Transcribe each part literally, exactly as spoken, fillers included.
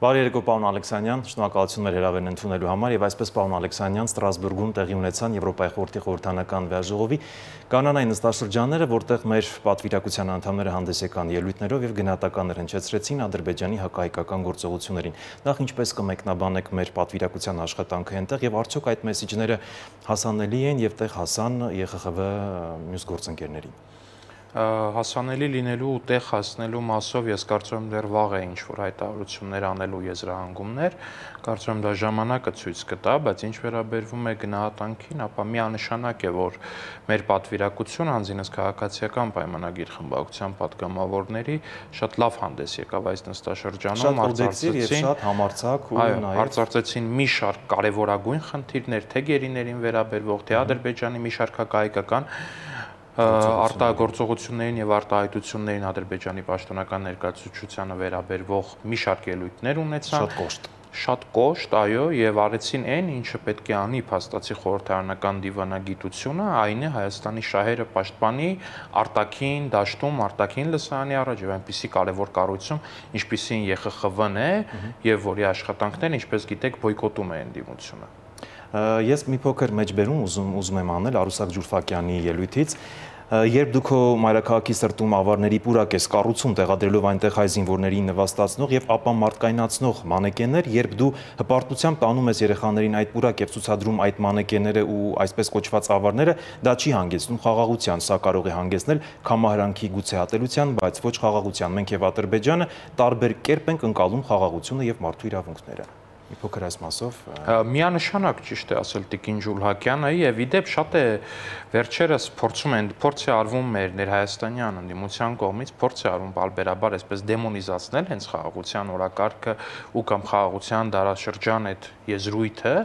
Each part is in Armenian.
Բարի երեկո, պարոն Ալեքսանյան, շնորհակալություն մեր հրավերն ընդունելու համար եւ այսպես պարոն Ալեքսանյան Ստրասբուրգում տեղի ունեցան Եվրոպայի խորհրդի խորհրդանական վեաժողովի կանոնային նստաշրջանները, որտեղ մեր պատվիրակության անդամները հանդես եկան ելույթներով եւ գնահատականներ հնչեցրեցին Ադրբեջանի հակահայկական գործողություններին։ Նախ ինչպես կմեկնաբանեք մեր պատվիրակության աշխատանքը այնտեղ եւ արդյոք այդ մեսիջները հասանելի են եւ տեղ հասան Ե Խ Խ V մյուս գործընկերներին։ Հասանելի լինելու ու տեղ հասնելու մասով ես կարծում եմ դեռ վաղ է ինչ-որ հայտարարություններ անելու եզրահանգումներ, կարծում եմ դա ժամանակը ցույց կտա, բայց ինչ վերաբերվում է գնահատանքին, ապա միանշանակ է, որ մեր պատվիրակությունը անձինս քաղաքացիական պայմանագիր խմբակցության պատգամավորների շատ լավ հանդես եկավ այս նստաշրջանում, արծարծեցին շատ համարձակ ու նաև արծարծեցին մի շարք կարևորագույն խնդիրներ, թե գերիներին վերաբերվող, թե Ադրբեջանի մի շարք հակահայկական արտագործողություններին եւ արտահայտություններին Ադրբեջանի պաշտոնական ներկայացուցչությանը վերաբերվող մի շարք ելույթներ ունեցան։ Շատ կոշտ։ Շատ կոշտ, այո, եւ արեցին այն, ինչը պետք է անի փաստացի խորհրդարանական դիվանագիտությունը, այն է Հայաստանի շահերը պաշտպանի արտաքին դաշտում, արտաքին լսարանի առաջ եւ այնպիսի կարևոր կառույցում, ինչպիսին Ե Խ Խ V-ն է եւ որի աշխատանքներն, ինչպես գիտեք, բոյկոտում է ընդդիմությունը։ Ես մի փոքր մեջբերում ուզում ուզում եմ անել Արուսակ Ջուրֆակյանի ելույթից, երբ դուք մայրաքաղաքի սրտում ավարների պուրակ ես կառուցում տեղադրելով այնտեղ հայ զինվորներին նվաստացնող եւ ապա մարդկայնացնող մանեկեններ, երբ դու հպարտությամբ տանում ես երեխաներին այդ պուրակ եւ ցուցադրում այդ մանեկենները ու այսպես կոչված ավարները, դա չի հանգեցնում խաղաղության, սա կարող է հանգեցնել կամահարանքի գուցե ատելության, բայց ոչ խաղաղության։ Մենք եւ Ադրբեջանը տարբեր կերպ ենք ընկալում խաղաղությունը եւ մարդու իրավունքները։ Մի փոքր այս մասով միանշանակ ճիշտ է ասել Տիկին Ջուլհակյանը եւ իդեպ շատ է վերջերս փորձում են փորձ է արվում մեր ներհայաստանյան ընդդիմության կողմից փորձ է արվում բարբերաբար այսպես դեմոնիզացնել հենց խաղաղության օրակարգը ու կամ խաղաղության դարաշրջան այդ եզրույթը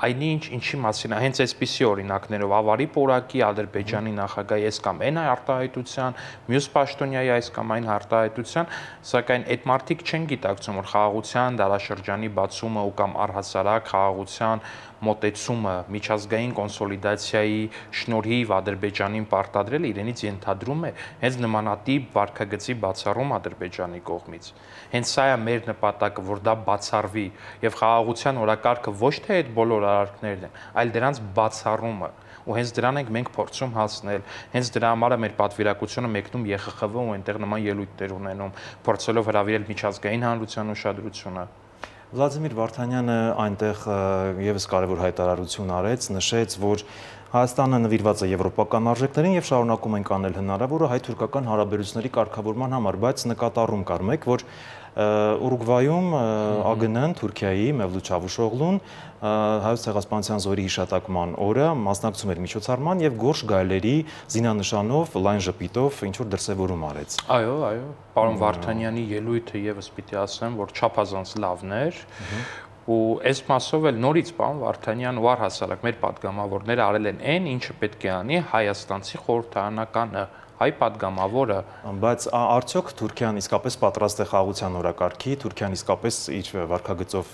այնինչ ինչի մասին է հենց այսպիսի օրինակներով ավարի պորակի Ադրբեջանի նախագահի այս կամ այն արտահայտության մյուս պաշտոնյայի այս կամ այն արտահայտության սակայն այդ մարդիկ չեն գիտակցում որ խաղաղության դարաշրջանի բացումը ու կամ առհասարակ խաղաղության մոտեցումը միջազգային կոնսոլիդացիայի շնորհիվ Ադրբեջանին պարտադրել իրենից ենթադրում է հենց նմանատիպ վարքագծի բացառում Ադրբեջանի կողմից։ Հենց սա է մեր նպատակը, որ դա բացառվի եւ խաղաղության օրակարգը ոչ թե այդ բոլոր արարքներն են, այլ դրանց բացառումը։ Ու հենց դրան ենք մենք փորձում հասնել։ Հենց դրա համար է մեր պատվիրակությունը մեկնում Ե Խ Խ V ու այնտեղ նման ելույթներ ունենում, փորձելով հրավիրել միջազգային հանրության ուշադրությունը։ Վլադիմիր Վարդանյանը այնտեղ եւս կարևոր հայտարարություն արեց, նշեց, որ Հայաստանը նվիրված է եվրոպական արժեքներին եւ շարունակում ենք անել հնարավորը հայ-թուրքական հարաբերությունների կարգավորման համար, բայց նկատառում կար մեկ, որ Ուրուգվայում Ա Գ Ն-ն, Թուրքիայի Մևլութ Չավուշօղլուն հայոց ցեղասպանության զորի հիշատակման օրը մասնակցում էր միջոցառման եւ գորշ գայլերի զինանշանով լայն ժպիտով ինչ որ դրսեւորում արեց։ Այո, այո, պարոն Վարդանյանի ելույթը եւս պիտի ասեմ, որ չափազանց լավն էր։ Ու այս մասով էլ նորից պարոն Վարդանյան ու առհասարակ մեր պատգամավորները արել են այն, ինչը պետք է անի հայաստանցի խորհրդարանականը, հայ պատգամավորը։ Բայց արդյոք Թուրքիան իսկապես պատրաստ է խաղաղության օրակարգի, Թուրքիան իսկապես իր վարքագծով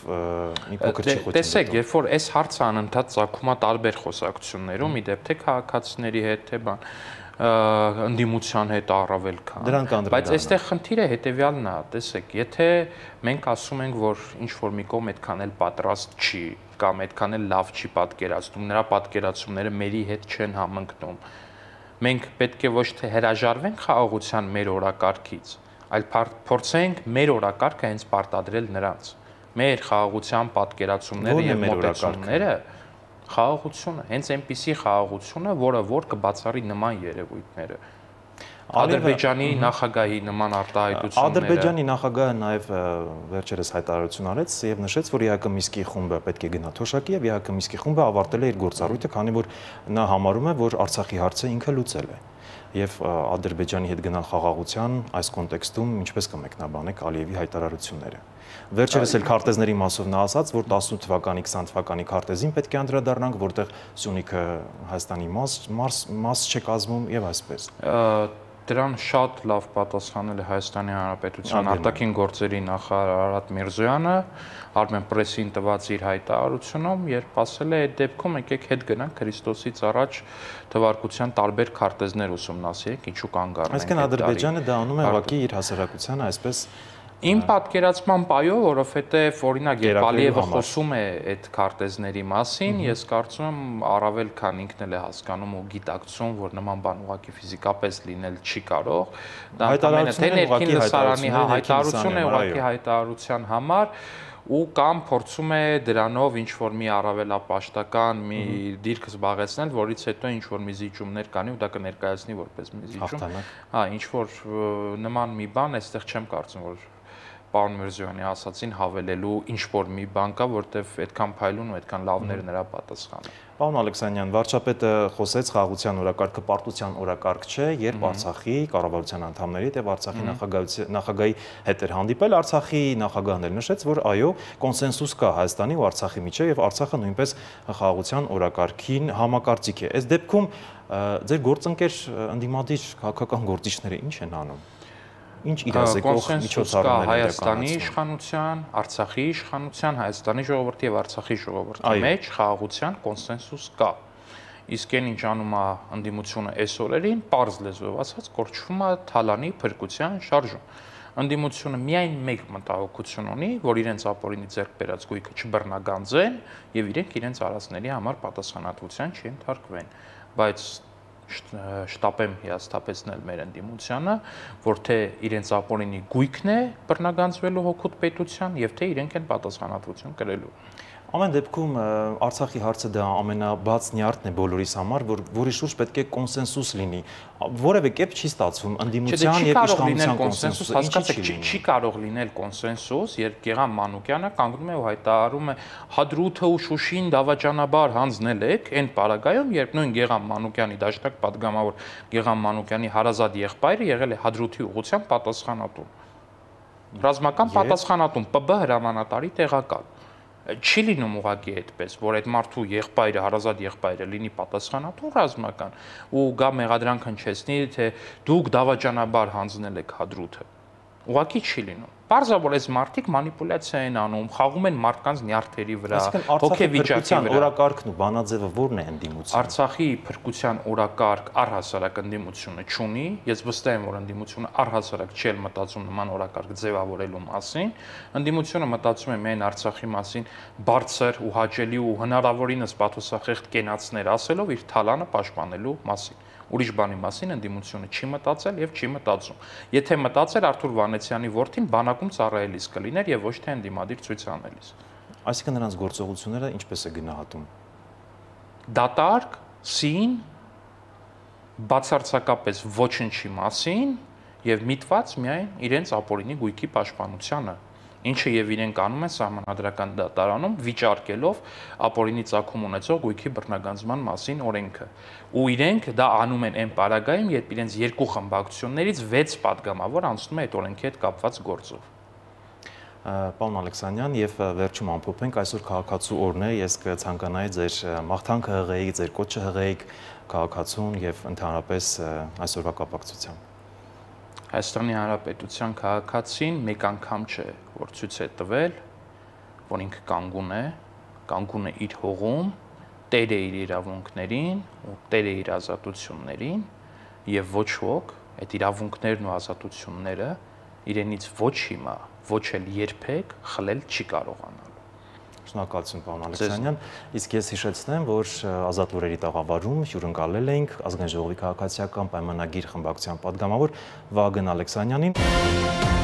մի փոքր չի խոցում։ Տեսեք, երբ որ այս հարցը անընդհատ ծագում է տարբեր խոսակցություններում, իդեպ թե քաղաքացիների հետ, թե բան ընդդիմության հետ առավել քան։ Բայց այստեղ խնդիրը հետեւյալն է, տեսեք, եթե մենք ասում ենք, որ ինչ որ մի կողմ այդքան էլ պատրաստ չի կամ այդքան էլ լավ չի պատկերացնում, նրա պատկերացումները մերի հետ չեն համընկնում, մենք պետք է ոչ թե հրաժարվենք խաղաղության մեր օրակարգից, այլ փորձենք մեր օրակարգը հենց պարտադրել նրանց։ Մեր խաղաղության պատկերացումները եւ մոտեցումները խաղաղությունը, հենց այնպիսի խաղաղությունը, որը որ կբացառի նման երևույթները։ Ադրբեջանի նախագահի նման արտահայտությունները։ Ադրբեջանի նախագահը նաև վերջերս հայտարարություն արեց եւ նշեց, որ Ե Հ Կը Միսկի խումբը պետք է գնա թոշակի եւ Ե Հ Կը Միսկի խումբը ավարտել է իր գործառույթը, քանի որ նա համարում է, որ Արցախի հարցը ինքը լուծել է։ Եվ Ադրբեջանի հետ գնալ խաղաղության այս կոնտեքստում ինչպես կմեկնաբանեք Ալիևի հայտարարությունները։ Վերջերս էլ քարտեզների մասով նա ասաց, որ տասնութ թվականի, քսան թվականի քարտեզին պետք է անդրադառնանք, որտեղ Սյունիքը Հայաստանի մաս մաս չէ կազմում եւ այսպես։ Դրան շատ լավ պատասխանել է Հայաստանի Հանրապետության արտաքին գործերի նախարար Արարատ Միրզոյանը, Armenpress-ին տված իր հայտարարությունում, երբ ասել է, այդ դեպքում եկեք հետ գնանք Քրիստոսից առաջ թվարկության տարբեր քարտեզներ ուսումնասիրենք, ինչու կանգ առնենք։ Այսինքն Ադրբեջանը դա անում է ուղղակի իր հասարակությանը այսպես Իմ պատկերացման պայով, որովհետև օրինակ երբ Ալիևը խոսում է այդ քարտեզների մասին, ես կարծում եմ առավել քան ինքն էլ է հասկանում ու գիտակցում, որ նման բան ուղղակի ֆիզիկապես լինել չի կարող։ Դա ամենը թե ներքին լսարանի հայտարարություն է ուղղակի հայտարարության համար ու կամ փորձում է դրանով ինչ որ մի առավելապաշտական մի դիրք զբաղեցնել, որից հետո ինչ որ մի զիջումներ կանի ու դա կներկայացնի որպես մի զիջում։ Հա, ինչ որ նման մի բան, այստեղ չեմ կարծում, որ պարոն Միրզոյանի ասացին հավելելու ինչ որ մի բան կա, որտեվ այդքան փայլուն ու այդքան լավներ նրա պատասխանը։ Պարոն Ալեքսանյան, վարչապետը խոսեց խաղաղության օրակարգը պարտության օրակարգ չէ, երբ Արցախի կառավարության անդամների եւ Արցախի նախագահի հետ էր հանդիպել, Արցախի նախագահն էլ նշեց, որ այո, կոնսենսուս կա Հայաստանի ու Արցախի միջեւ եւ Արցախը նույնպես խաղաղության օրակարգին համակարծիք է։ Այս դեպքում ձեր գործընկեր ընդդիմադիր քաղաքական գործիչները ինչ են անում։ Ինչ իրազեկող միջոցառումներ Հայաստանի իշխանության, Արցախի իշխանության, Հայաստանի ժողովրդի եւ Արցախի ժողովրդի մեջ խաղաղության կոնսենսուս կա։ Իսկ այն ինչ անում է ընդդիմությունը այս օրերին, պարզ լեզվով ասած, կոչվում է թալանի փրկության շարժում։ Ընդդիմությունը միայն մեկ մտահոգություն ունի, որ իրենց ապօրինի ձեռք բերած գույքը չբռնագանձեն եւ իրենք իրենց արածների համար պատասխանատվության չենթարկվեն։ Բայց շտապեմ հիասթափեցնել մեր ընդդիմությանը, որ թե իրենց ապօրինի գույքն է բռնագանձվելու հօգուտ պետության եւ թե իրենք են պատասխանատվություն կրելու։ Ամեն դեպքում Արցախի հարցը դա ամենաբաց նյարդն է բոլորիս համար, որ որի շուրջ պետք է կոնսենսուս լինի։ Որևէ կերպ չի ստացվում ընդդիմության եւ իշխանության կոնսենսուս, հասկացեք, չի կարող լինել կոնսենսուս, երբ Գեգամ Մանուկյանը կանգնում է ու հայտարարում է Հադրութը ու Շուշին դավաճանաբար հանձնել եք, այն պարագայում, երբ նույն Գեգամ Մանուկյանի դաշնակ պատգամավոր Գեգամ Մանուկյանի հարազատ եղբայրը եղել է Հադրութի ուղղությամբ պատասխանատու։ Ռազմական պատասխանատուն Պ B հրամանատարի տեղակալ։ Չի լինում ուղղակի այդպես, որ այդ մարդու եղբայրը, հարազատ եղբայրը լինի պատասխանատու ռազմական ու գա մեղադրանք հնչեցնի, թե դուք դավաճանաբար հանձնել եք Հադրութը։ Ուղղակի չի լինում։ Պարզաբար այս մարդիկ մանիպուլյացիա են անում, խաղում են մարդկանց նյարդերի վրա, հոգեվիճակի վրա։ Օրակարգն ու բանաձևը ո՞րն է ընդդիմության։ Արցախի փրկության օրակարգ առհասարակ ընդդիմությունը չունի, ես վստահ եմ, որ ընդդիմությունը առհասարակ չի մտածում նման օրակարգ ձևավորելու մասին, ընդդիմությունը մտածում է միայն Արցախի մասին բարձր ու հաճելի ու հնարավորինս պաթոսախեղդ կենացներ ասելով իր թալանը պաշտպանելու մասին։ Ուրիշ բանի մասին ընդդիմությունը չի մտածել եւ չի մտածում։ Եթե մտածեր Արթուր Վանեցյանի որդին բանակում ծառայելիս կլիներ եւ ոչ թե ընդդիմադիր ցույց անելիս։ Այսինքն նրանց գործողությունները ինչպես է գնահատում։ Դատարկ, սին, բացարձակապես ոչնչի մասին եւ միտված միայն իրենց ապօրինի գույքի պաշտպանությանը, ինչը եւ իրենք անում են սահմանադրական դատարանում վիճարկելով ապօրինի ծագում ունեցող գույքի բռնագանձման մասին օրենքը։ Ու իրենք դա անում են այն պարագայում, երբ իրենց երկու խմբակցություններից վեց պատգամավոր անցնում է այդ օրենքի հետ կապված գործով։ Պարոն Ալեքսանյան, եւ վերջում ամփոփենք, այսօր քաղաքացու օրն է, ես կցանկանայի ձեր մաղթանքը հղեիք, ձեր կոչը հղեիք քաղաքացուն եւ ընդհանրապես այսօրվա կապակցությամբ։ Հայաստանի Հանրապետության քաղաքացին մեկ անգամ չէ, որ ցույց է տվել, որ ինքը կանգուն է, կանգուն է իր հողում, տեր է իր իրավունքներին ու տեր է իր ազատություններին եւ ոչ ոք այդ իրավունքներն ու ազատությունները իրենից ոչ հիմա, ոչ էլ երբեք խլել չի կարողանալու։ Շնորհակալություն, պարոն Ալեքսանյան, իսկ ես հիշեցնեմ, որ Ազատ լուրերի տաղավարում հյուրընկալել էինք Ազգային ժողովի քաղաքացիական պայմանագիր խմբակցության պատգամավոր Վահագն Ալեքսանյանին։